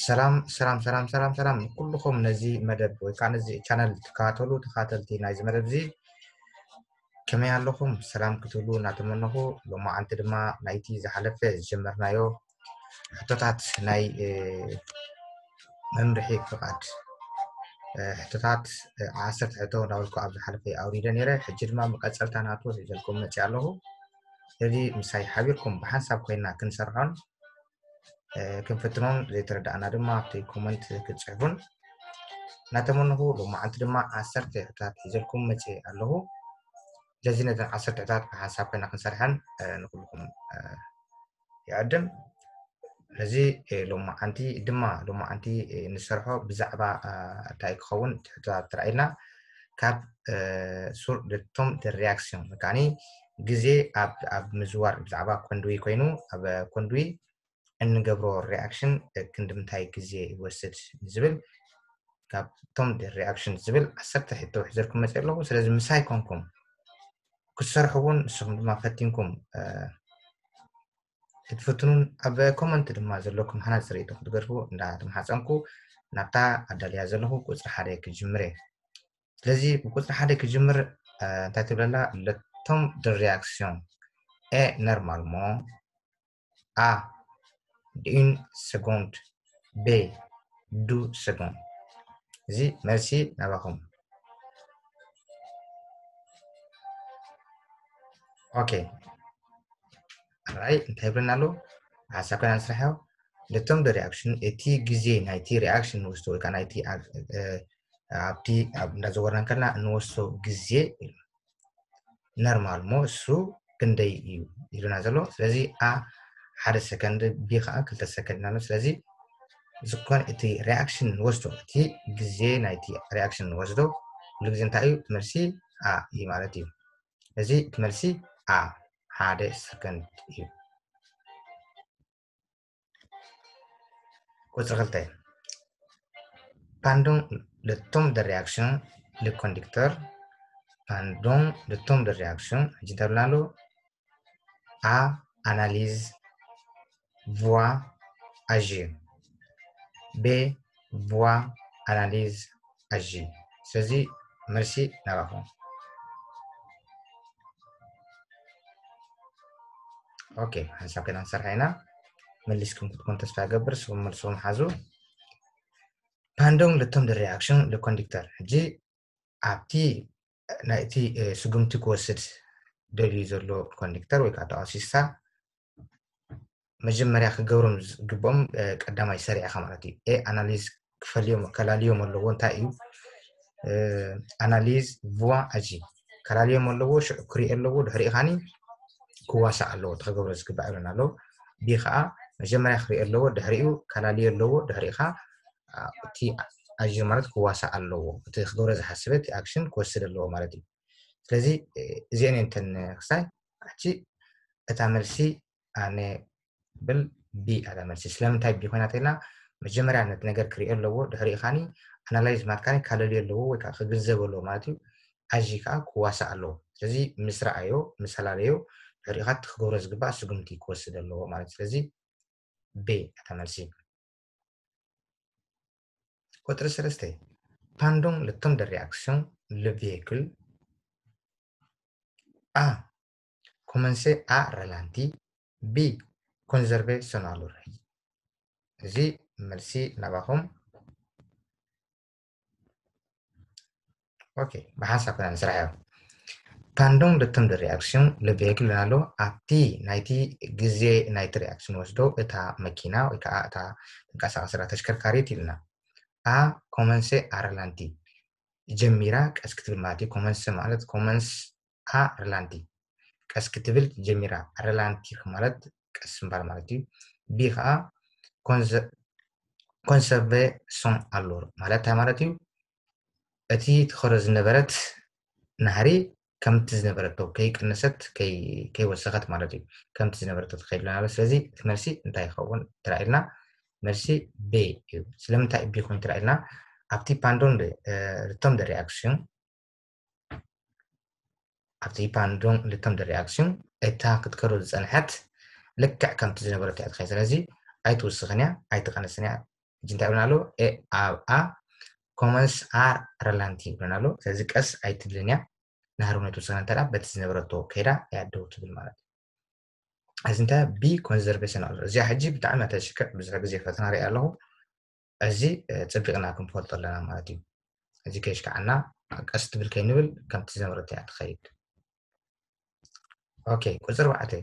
ሰላም ሰላም ሰላም ሰላም ሰላም ኩልኹም ነዚ መደብ ወይ ከዓ ነዚ ቻነል ትከታተሉ ተኸታተልቲ ናይዚ መደብ እዚ ከመይ ኣለኹም? ሰላም ክትብሉ እናተመነኹ፣ ሎማዓንቲ ድማ ናይቲ ዝሓለፈ ዝጀመርናዮ ሕቶታት ናይ መምርሒ ፍቓድ ሕቶታት ዓሰርተ ሕቶ እንዳበልኩ ኣብ ዝሓለፈ ኣውሪደ ነይረ። ሕጂ ድማ መቐፀልታ ናቱ ሒዘልኩም መፅእ ኣለኹ። ስለዚ ምሳይ ሓቢርኩም ብሓንሳብ ኮይና ክንሰርሖን ክንፍትኖን ዘይተረዳእና ድማ ኣብቲ ኮመንት ክትፅሕፉን እናተመነኹ፣ ሎማዓንቲ ድማ ዓሰርተ ሕቶታት ሒዘልኩም መፅእ ኣለኹ። ስለዚ ነዘን ዓሰርተ ሕቶታት ብሓንሳብ ኮይና ክንሰርሐን ንኩልኩም ይዕድም። ስለዚ ሎማዓንቲ ድማ ሎማዓንቲ ንሰርሖ ብዛዕባ እንታይ ክኸውን ትሕቶታት ተራኢልና ካብ ሱር ቶም ሪያክሽን ከዓኒ ግዜ ኣብ ምዝዋር ብዛዕባ ኮንድዊ ኮይኑ ኣብ ኮንድዊ እንገብሮ ሪያክሽን ክንዲ ምንታይ ግዜ ይወስድ ዝብል ካብ ቶም ሪያክሽን ዝብል ዓሰርተ ሕቶ ሒዘልኩም መፅእ ኣለኹ። ስለዚ ምሳይ ኮንኩም ክትሰርሑ እውን ንስኹም ድማ ፈቲንኩም ክትፍትኑን ኣብ ኮመንት ድማ ዘለኩም ሃናፂ ርእይቶ ክትገድፉ እንዳተመሓፀንኩ ናብታ ኣዳልያ ዘለኹ ቁፅሪ ሓደ ክጅምር እየ። ስለዚ ብቁፅሪ ሓደ ክጅምር እንታይ ትብለላ? ለቶም ሪያክሽን ኤ ኖርማልሞ፣ ኣ ዲን ሰጎንድ፣ ቤ ዱ ሰጎንድ። እዚ መልሲ ናባኹም። ኦኬ ራይ እንታይ ይብለና ኣሎ? ሓሳብ ከና ንስራሕ ያው ለቶም ሪያክሽን እቲ ግዜ ናይቲ ሪያክሽን ንወስዶ ወይ ከዓ ናይቲ ኣብቲ እንዳዘወርና ከለና እንወስዶ ግዜ ኖርማል ሞ እሱ ክንደይ እዩ ይብለና ዘሎ። ስለዚ ኣ ሓደ ሰከንድ፣ ቢ ከዓ ክልተ ሰከንድ ኢና። ስለዚ ዝኾነ እቲ ሪያክሽን ንወስዶ እቲ ግዜ ናይቲ ሪያክሽን ንወስዶ ኩሉ ግዜ እንታይ እዩ? እቲ መልሲ ኣ እዩ ማለት እዩ። እዚ እቲ መልሲ ኣ ሓደ ሰከንድ እዩ። ቁፅሪ ክልተ pendant le temps de réaction le conducteur pendant le temps de réaction ሕጂ እንታይ ብልና ኣሎ? ኣ analyse፣ voir, agir። ቤ voir, analyse, agir። ስለዚ መልሲ ናባኹም። ኦኬ ሓንሳብ ከና ንሰርሓ ኢና። መሊስኩም ክትኮን ተስፋ ይገብር። ስኹም መልስኹም ሓዙ። Pendant le temps de réaction le conducteur ሕጂ ኣብቲ ናይቲ ስጉምቲ ክወስድ ደልዩ ዘሎ ኮንዲክተር ወይ ከዓ ተቃሲሳ መጀመርያ ክገብሮም ዝግብኦም ቀዳማይ ሰሪዕኻ ማለት እዩ። ኤ ኣናሊዝ ክፈልዮም ከላልዮም ኣለዎ። እንታይ እዩ ኣናሊዝ ቭዋ ኣጂ ከላልዮም ኣለዎ። ሽዑ ክሪኦ ኣለዎ። ድሕሪኡ ካኒ ክዋሳእ ኣለዎ። እቲ ክገብሮ ዝግባእ ይብለና ኣሎ። ቢ ከዓ መጀመርያ ክሪኦ ኣለዎ። ድሕሪኡ ከላልዮ ኣለዎ። ድሕሪኡ ከዓ እቲ ኣጂ ማለት ክዋሳእ ኣለዎ። እቲ ክገብሮ ዝሓስበ እቲ ኣክሽን ክወስድ ኣለዎ ማለት እዩ። ስለዚ እዚአን እየን እተን ክሳይ ሕጂ እታ መልሲ ኣነ ብል ቢ ኣታ መልሲ። ስለምንታይ ቢ ኮይና ተልና መጀመርያ ነቲ ነገር ክሪኦ ኣለዎ። ድሕሪኡ ካኒ ኣናላይዝ ማለት ካኒ ካለልዮ ኣለዎ ወይ ከዓ ክግንዘብ ኣለዎ ማለት እዩ። ኣዚ ከዓ ክዋሳእ ኣለዎ። ስለዚ ምስ ረኣዮ ምስ ኣላለዮ ድሕሪኡ ከዓ እቲ ክገብሮ ዝግባእ ስጉምቲ ክወስድ ኣለዎ ማለት እዩ። ስለዚ ቢ ኣታ መልሲ። ቁፅሪ ሰለስተ pendant le temps de réaction le véhicule a commence à ralentir, b conserve son allure። እዚ መልሲ ናባኹም። ኦኬ ብሓንሳብ ከና ንስራሕ እዮም። Pendant le temps de réaction le véhicule ኣሎ ኣብቲ ናይቲ ግዜ ናይቲ ሪያክሽን ወስዶ እታ መኪና ወይ ከዓ እታ ተንቀሳቀስራ ተሽከርካሪት ይብልና a commence à ralentir ጀሚራ ቀስ ክትብል ማለት እዩ። ኮመንስ ማለት ኮመንስ ኣ ረላንቲ ቀስ ክትብል ጀሚራ። ረላንቲ ማለት ቀስ ምባል ማለት እዩ። ቢ ከዓ conserve son allure ማለት እንታይ ማለት እዩ? እቲ ትኸዶ ዝነበረት ናህሪ ከምቲ ዝነበረቶ ከይቀነሰት ከይወሰኸት ማለት እዩ። ከምቲ ዝነበረቶ ትኸይድ ኣለና። ስለዚ እቲ መልሲ እንታይ ይኸውን ተራኢልና? መልሲ ቤ እዩ። ስለምንታይ ቢ ኮይኑ ተራኢልና? ኣብቲ pendant le temps de réaction ኣብቲ pendant le temps de réaction እታ ክትከዶ ዝጸንሐት ልክዕ ከምቲ ዝነበረት እያ ትኸይድ። ስለዚ ኣይትውስኽን እያ፣ ኣይትቐንስን እያ። ሕጂ እንታይ ይብለና ኣሎ? A commence à ralentir ይብለና ኣሎ። ስለዚ ቀስ ኣይትብልን እያ። ንሃርሞኒ ትውስኽን እንተ በቲ ዝነበረቶ ከይዳ እያ ደው ትብል ማለት እዩ። እዚ እንታይ B conservation ኣሎ። እዚኣ ሕጂ ብጣዕሚ እያ ተሽክዕ፣ ብዙሕ ግዜ ፈተና ሪኣ ኣለኹ። እዚ ጽቢቕና ክንፈልጦ ኣለና ማለት እዩ። እዚ ከይሽክዓና ቀስ ትብል ከይንብል ከምቲ ዝነበረት እያ ትኸይድ። ኦኬ፣ ቁጽሪ ኣርባዕተ።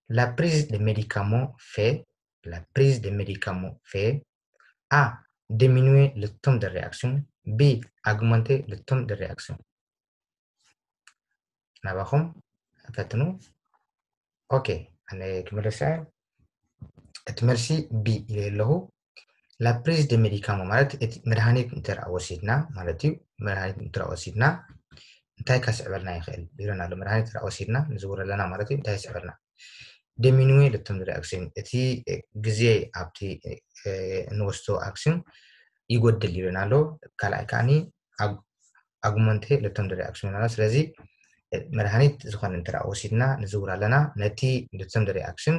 La prise de médicaments fait, la prise de médicaments fait A diminuer le temps de réaction, B augmenter le temps de réaction. ናባኹም ፈትኑ። ኦኬ፣ ኣነ ክምለስ እየ። እቲ መልሲ B ኢለ ኣለኹ። La prise de médicaments ማለት እቲ መድሃኒት እንተ ወሲድና ማለት እዩ። መድሃኒት እንተ ወሲድና እንታይ ከስዕበልና ይኽእል ይብለና ኣሎ። መድሃኒት እንተ ወሲድና ንዝውር ኣለና ማለት እዩ። እንታይ ይስዕበልና? Diminuer le temps de réaction፣ እቲ ግዜ ኣብቲ እንወስዶ action ይጎድል ይብለና ኣሎ። ካልኣይ ከዓኒ augmenter le temps de réaction ይብለና። ስለዚ መድሃኒት ዝኾነ እንተ ወሲድና ንዝውር ኣለና ነቲ le temps de réaction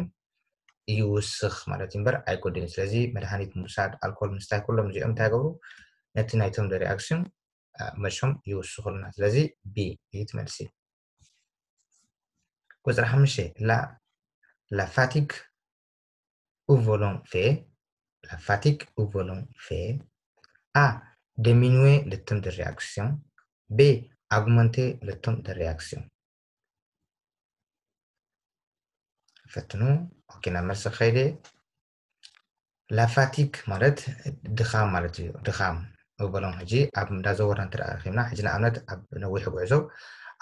ይውስኽ ማለት እዩ እምበር ኣይጎድልን። ስለዚ መድሃኒት ምውሳድ፣ ኣልኮል ምስታይ፣ ኩሎም እዚኦም እንታይ ይገብሩ? ነቲ ናይ temps de réaction መሸም ይውስኹልና። ስለዚ B እዩ ትመልሲ። ቁጽሪ ሓሙሽተ፣ la fatigue au volant fait, la fatigue au volant fait A diminuer le temps de réaction, B augmenter le temps de réaction. ፈትኑ። ኦኬ፣ ናብ መልሲ ከይደ። La fatigue ማለት ድኻም ማለት እዩ። ድኻም እበሎም ሕጂ ኣብ እንዳዘወርና እንተ ረኺብና፣ ሕጂ ንኣብነት ኣብ ነዊሕ ጉዕዞ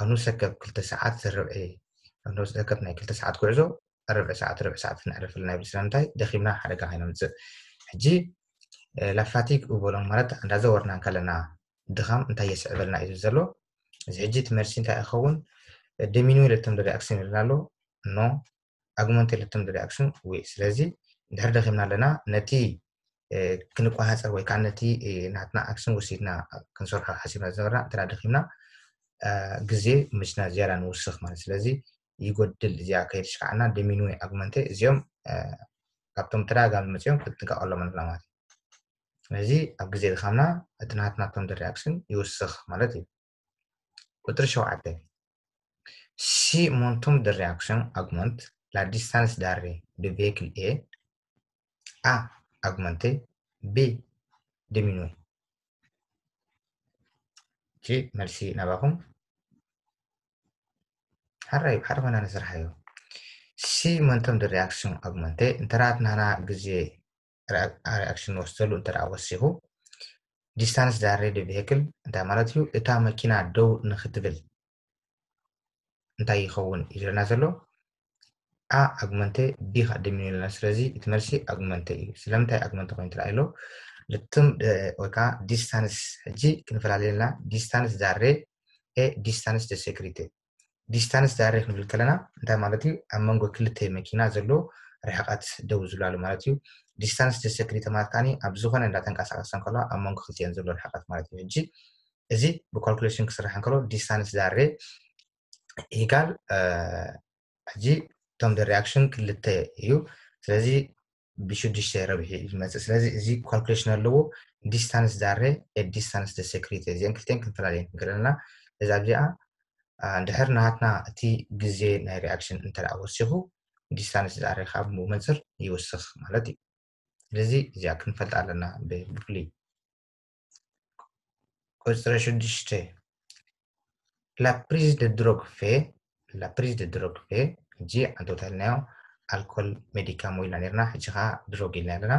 ኣብ ንሰከብ ክልተ ሰዓት ርብዒ፣ ኣብ ንሰከብ ናይ ክልተ ሰዓት ጉዕዞ ርብዒ ሰዓት ርብዒ ሰዓት ክነዕርፍ ኣለና ይብል። ስለምንታይ? ደኺምና ሓደጋ ከይነምጽእ። ሕጂ la fatigue እበሎም ማለት እንዳዘወርና እንከለና ድኻም እንታይ የስዕበልና እዩ ዘሎ? እዚ ሕጂ እቲ መልሲ እንታይ ይኸውን? Diminuer le temps de réaction ይብለና ኣሎ። No, augmenter le temps de réaction oui። ስለዚ ድሕር ደኺምና ኣለና፣ ነቲ ክንቆሃፀር ወይ ከዓ ነቲ ናትና action ወሲድና ክንሰርሖ ሓሲብና ዝነበርና እንተ ደኺምና ግዜ ምችና ዝያዳ ንውስኽ ማለት። ስለዚ ይጎድል። እዚኣ ከይትሽካዓና diminuer፣ augmenter እዚኦም ካብቶም ተደጋጋሚ መፅኦም ክትጥንቀቐሎም ኣለና ማለት እዩ። ስለዚ ኣብ ግዜ ድኻምና እቲ ናትና temps de réaction ይውስኽ ማለት እዩ። ቁፅሪ ሸውዓተ፣ si mon temps de réaction augmente, la distance d'arrêt du véhicule est A augmenter, B diminuer። እቺ መልሲ ናባኹም። ሓራይ ሓደ ኮይና ንስርሓዮ። Si mon temps de réaction augmente፣ እንተ ናትና ግዜ reaction ንወስደሉ እንተ ወሲኹ፣ distance d'arrêt du véhicule እንታይ ማለት እዩ? እታ መኪና ደው ንክትብል እንታይ ይኸውን ኢሉና ዘሎ? A augmenter፣ B ከዓ diminuer ኣለና። ስለዚ እቲ መልሲ augmenter እዩ። ስለምንታይ augmenter ኮይኑ ትረኣይ ኣሎ? ልትም ወይ ከዓ distance ሕጂ ክንፈላለየልና፣ distance d'arrêt et distance de sécurité። Distance d'arrêt ክንብል ከለና እንታይ ማለት እዩ? ኣብ መንጎ ክልተ መኪና ዘሎ ርሕቀት ደው ዝብላሉ ማለት እዩ። Distance de sécurité ማለት ከዓኒ ኣብ ዝኾነ እንዳተንቀሳቀሰ እንከሎ ኣብ መንጎ ክልቲኤን ዘሎ ርሕቀት ማለት እዩ። ሕጂ እዚ ብ calculation ክስራሕ እንከሎ distance d'arrêt equal ሕጂ temps de réaction ክልተ እዩ። ስለዚ ብሽዱሽተ ረብሒ እዩ ዝመፅእ። ስለዚ እዚ calculation ኣለዎ። Distance d'arrêt et distance de sécurité እዚአን ክልተን ክንፈላለየን ክንክእል ኣለና። እዚ ኣብዚኣ እንድሕር ናትና እቲ ግዜ ናይ reaction እንተ ወሲኹ distance d'arrêt ካብ ብመንፅር ይውስኽ ማለት እዩ። ስለዚ እዚኣ ክንፈልጥ ኣለና ብፍሉይ። ቁፅሪ ሽዱሽተ፣ la prise de drogue fait፣ la prise de drogue fait፣ ሕጂ ኣንተውታልናዮ ኣልኮል፣ ሜዲካሞ ኢልና ነርና፣ ሕጂ ከዓ ድሮግ ኢልና ኣለና።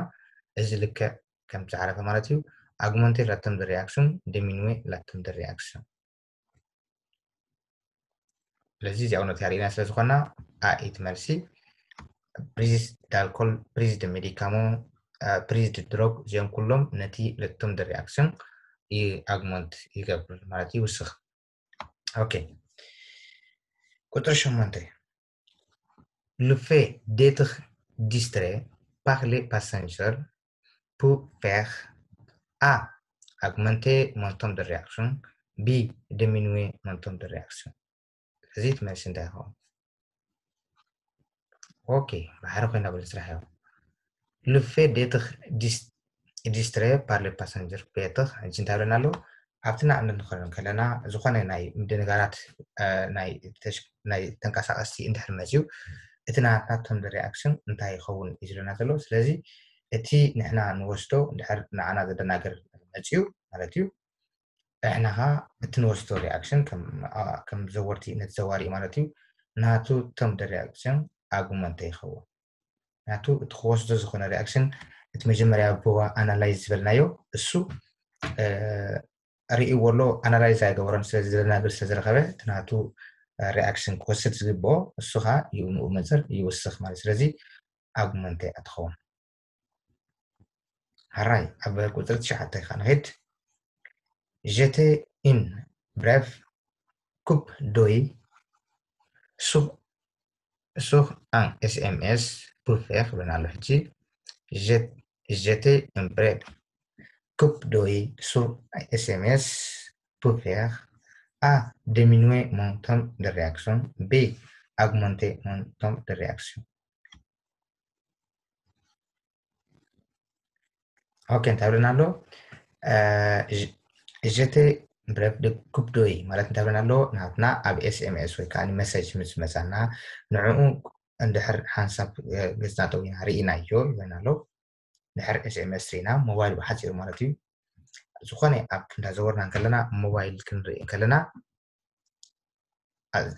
እዚ ልክዕ ከም ዝዓረፈ ማለት እዩ። Augmenter le temps de réaction, diminuer le temps de réaction። ስለዚ እዚኣ እውነት ያርእና ስለ ዝኾና A እዩ እቲ መልሲ። Prise d'alcool, prise de médicament, prise de drogue እዚኦም ኩሎም ነቲ le temps de réaction augmenter ይገብር ማለት ይውስኽ። ኦኬ፣ ቁፅሪ ሸሞንተ፣ le fait d'être distrait par les passagers peut faire A augmenter mon temps de réaction, B diminuer mon temps de réaction። እዚ እቲ መልሲ እንታይ ይኸውን? ኦኬ፣ ባሕሪ ኮይና ብለ ስራሕ እዮም። Le fait d'être dis- distrait par les passagers peut être ሕጂ እንታይ ብለና ኣለዉ? ኣብቲ ንኣብነት ንኸዶ ከለና ዝኾነ ናይ ምድንጋራት ናይ ተንቀሳቀስቲ እንድሕር መፅዩ እቲ ናትና thermal reaction እንታይ ይኸውን እዩ ዝለና ዘሎ። ስለዚ እቲ ንሕና ንወስዶ እንድሕር ንዓና ዘደናገር መፅዩ ማለት እዩ። ንሕና ኸዓ እቲ ንወስዶ reaction ከም ዘወርቲ ነቲ ዘዋሪ ማለት እዩ። ናቱ thermal reaction argument ይኸውን። ናቱ እቲ ክወስዶ ዝኾነ reaction እቲ መጀመርያ ብዋ analyze ዝበልናዮ እሱ ርእይዎ ኣሎ፣ analyze ኣይገበሮን። ስለዚ ዘደናግር ስለዝረኸበ እቲ ናቱ reaction ክወስድ ዝግብኦ እሱ ኸዓ ይኡ ንኡ መፅር ይውስኽ ማለት። ስለዚ argument እያ ትኸውን። ሓራይ ኣብ ቁፅሪ ትሽዓተ ኸዓ ንኸይድ። J'étais une brève coupe d'œil sur sur un S M S pour faire ብለና ኣሎ። ሕጂ j'étais une brève coupe d'œil sur S M S pour faire A, diminuer mon temps de réaction, B, augmenter mon temps de réaction. ኦኬ፣ እንታይ ብለና ኣሎ? J'étais brève coupe d'œil ማለት እንታይ ብለና ኣሎ? ናትና ኣብ S M S ወይ ከዓ message ምስ መፃና ንዕኡ እንድሕር ሓንሳብ ገፅና ጠዊና ርኢናዮ ይብለና ኣሎ። ድሕር S M S ርኢና ሞባይል ብሓፂሩ ማለት እዩ። ዝኾነ ኣብ እንዳዘወርና እንከለና ሞባይል ክንርኢ እንከለና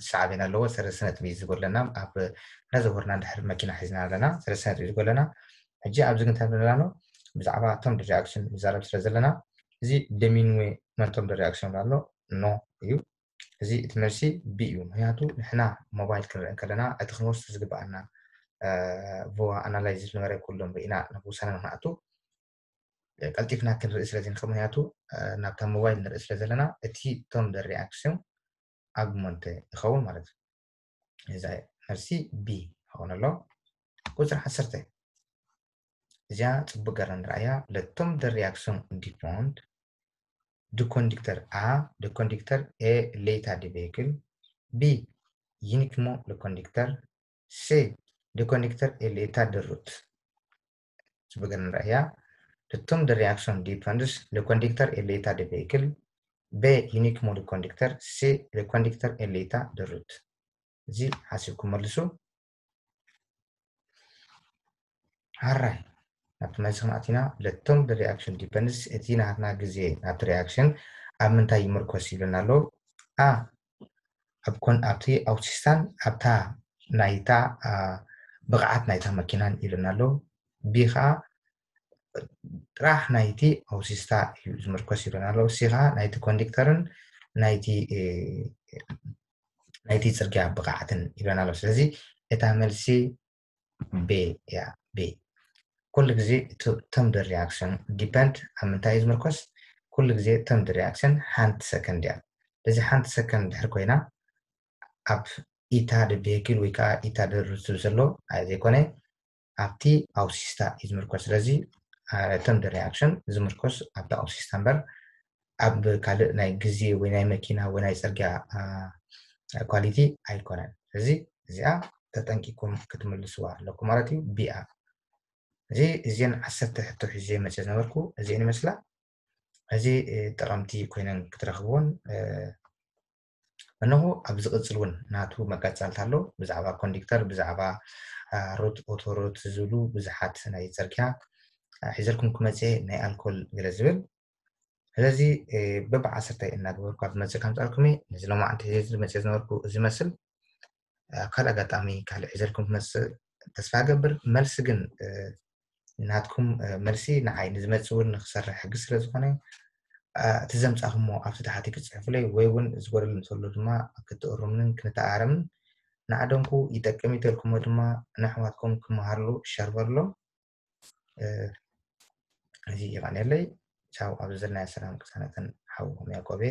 ሳዕቤን ኣለዎ። ሰለስተ ነጥቢ እዩ ዝጎድለና። ኣብ እንዳዘወርና እንድሕር መኪና ሒዝና ኣለና ሰለስተ ነጥቢ እዩ ዝጎድለና። ሕጂ ኣብዚ ግን እንታይ ንብለና ኣሎ? ብዛዕባ thermal reaction ንዛረብ ስለ ዘለና እዚ diminuer mon temps de réaction ኣሎ no እዩ። እዚ እቲ መልሲ B እዩ። ምክንያቱ ንሕና ሞባይል ክንርኢ እንከለና እቲ ክንወስዶ ዝግብኣና vo analysis ዝነበረ ኩሎም ርኢና ናብ ውሳነ ንክንኣቱ ቀልጢፍና ክንርኢ ስለ ዘይንኽእል፣ ምክንያቱ ናብታ ሞባይል ንርኢ ስለ ዘለና እቲ thermal reaction argument ይኸውን ማለት እዩ። እዛ መልሲ B ይኸውን ኣሎ። ቁፅሪ ዓሰርተ እዚኣ ፅቡቅ ገርና ንርኣያ። Le temps de réaction dépend du conducteur A, du conducteur et l'état du véhicule. B, uniquement le conducteur. C, du conducteur et l'état de route. ፅቡቅ ገርና ንርኣያ። Le temps de réaction dépend le conducteur et l'état du véhicule. B, uniquement le conducteur. C, le conducteur et l'état de route. እዚ ሓሲብኩም መልሱ። ሓራይ ናብቲ መልሲ ክንኣቲና። Le temps de réaction dépend እቲ ናትና ግዜ ናብቲ reaction ኣብ ምንታይ ይምርኮስ ይብለና ኣሎ? A፣ ኣብ ኮን ኣብቲ ኣውቲስታን ኣብታ ናይታ ብቕዓት ናይታ መኪናን ይብለና ኣሎ። B ከዓ ጥራሕ ናይቲ ኣውቲስታ እዩ ዝምርኮስ ይብለና ኣሎ። C ከዓ ናይቲ ኮንዲክተርን ናይቲ ናይቲ ፅርግያ ብቕዓትን ይብለና ኣሎ። ስለዚ እታ መልሲ B እያ። B ኩሉ ግዜ term reaction depend ኣብ ምንታይ እዩ ዝምርኮስ? ኩሉ ግዜ term reaction ሓንቲ ሰከንድ እያ። ስለዚ ሓንቲ ሰከንድ ድሕር ኮይና ኣብ ኢታ ደ ቬሂክል ወይ ከዓ ኢታ ደ ሩት ዝብል ዘሎ ኣይዘይኮነ ኣብቲ ኣውሲስታ እዩ ዝምርኮስ። ስለዚ term reaction ዝምርኮስ ኣብቲ ኣውሲስታ እምበር ኣብ ካልእ ናይ ግዜ ወይ ናይ መኪና ወይ ናይ ፅርግያ ኳሊቲ ኣይኮነን። ስለዚ እዚኣ ተጠንቂኩም ክትምልስዋ ኣለኩም ማለት እዩ። B እያ። እዚ እዚን ዓሰርተ ሕቶ ሒዘ መፅእ ዝነበርኩ እዚን ይመስላ። እዚ ጠቐምቲ ኮይነን ክትረኽብዎን እነሆ ኣብ ዝቕፅል እውን ናቱ መቀፃልታ ኣሎ። ብዛዕባ ኮንዲክተር፣ ብዛዕባ ሩት፣ ኦቶሩት ዝብሉ ብዙሓት ናይ ፅርግያ ሒዘልኩም ክመፅእ ናይ ኣልኮል ገለ ዝብል። ስለዚ በብዓሰርተ እናገበርኩ ኣብ ዝመፅእ ከምፃልኩም ነዚ ሎማዓንቲ ሒዘ ዝመፅእ ዝነበርኩ እዚ መስል ኣብ ካልእ ኣጋጣሚ ካልእ ሒዘልኩም ክመፅእ ተስፋ ገብር። መልሲ ግን ናትኩም መልሲ ንዓይ ንዝመፅእ እውን ንክሰርሕ ሕጊ ስለ ዝኾነ እቲ ዘምፃኹሞ ኣብቲ ታሕቲ ክፅሕፉለይ ወይ እውን ዝጎደለ እንተሎ ድማ ክትእሩምንን ክንተኣረምን ንዓደንኩ ይጠቅም ይተልኩሞ ድማ ንኣሕዋትኩም ክመሃርሉ ሸርበርሎም። እዚ ይቐንየለይ። ቻው። ኣብዚ ዘለናዮ ሰላም ቅሳነትን ሓውኹም ያዕቆቤ።